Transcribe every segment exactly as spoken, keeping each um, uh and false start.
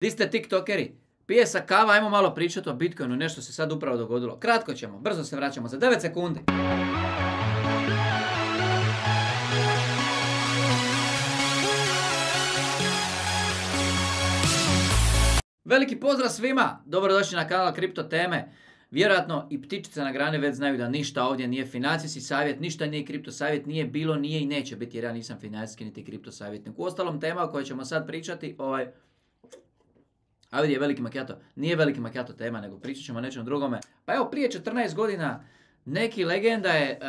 Di ste tiktokeri? Pije sa kava, ajmo malo pričati o Bitcoinu, nešto se sad upravo dogodilo. Kratko ćemo, brzo se vraćamo, za devet sekundi. Veliki pozdrav svima, dobrodošli na kanal Kripto teme. Vjerojatno i ptičice na grani već znaju da ništa ovdje nije financijski savjet, ništa nije kripto savjet, nije bilo, nije i neće biti jer ja nisam financijski niti kripto savjetnik. U ostalom tema o kojoj ćemo sad pričati, ovaj... A vidi je veliki macchiato, nije veliki macchiato tema, nego pričat ćemo o nečem drugome. Pa evo, prije četrnaest godina neki legenda je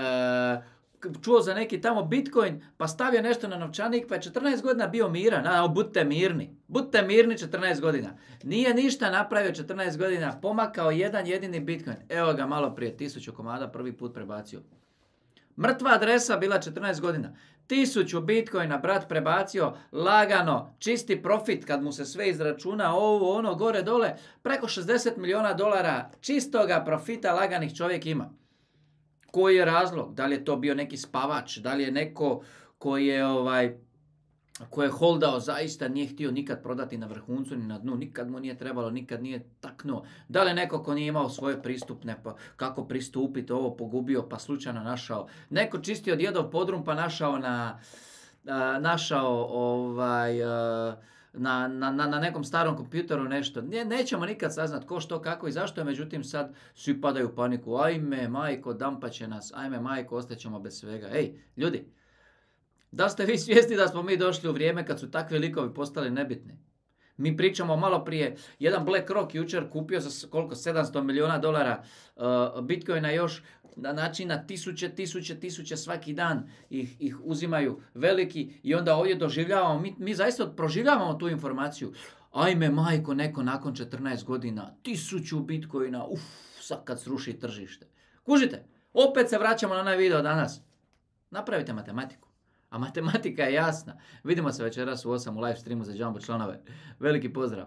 uh, čuo za neki tamo Bitcoin, pa stavio nešto na novčanik, pa je četrnaest godina bio miran. A, budite mirni, budite mirni četrnaest godina. Nije ništa napravio četrnaest godina, pomakao jedan jedini Bitcoin. Evo ga malo prije, tisuću komada prvi put prebacio. Mrtva adresa bila četrnaest godina. Tisuću bitcoina brat prebacio, lagano, čisti profit kad mu se sve izračuna, ovo, ono, gore, dole. Preko šezdeset milijuna dolara čistoga profita laganih čovjek ima. Koji je razlog? Da li je to bio neki spavač? Da li je neko koji je, ovaj, koji je holdao, zaista nije htio nikad prodati na vrhuncu ni na dnu, nikad mu nije trebalo, nikad nije taknuo. Da li je neko ko nije imao svoje pristupne, pa kako pristupiti, ovo pogubio pa slučajno našao. Neko čistio djedov podrum pa našao na, a, našao ovaj, a, na, na, na, na nekom starom kompjuteru nešto. Ne, nećemo nikad saznat ko, što, kako i zašto je, međutim sad svi padaju u paniku. Ajme majko, dampaće nas, ajme majko, ostaćemo bez svega. Ej, ljudi, da ste vi svjesni da smo mi došli u vrijeme kad su takvi likovi postali nebitni? Mi pričamo malo prije, jedan BlackRock jučer kupio za koliko, sedamsto milijuna dolara uh, Bitcoina još, na način na tisuće, tisuće, tisuće svaki dan ih, ih uzimaju veliki i onda ovdje doživljavamo, mi, mi zaista proživljavamo tu informaciju. Ajme majko, neko nakon četrnaest godina, tisuću Bitcoina, uff, sad kad sruši tržište. Kužite, opet se vraćamo na onaj video danas. Napravite matematiku. A matematika je jasna. Vidimo se večeras u osam u live streamu za Jumbo članove. Veliki pozdrav!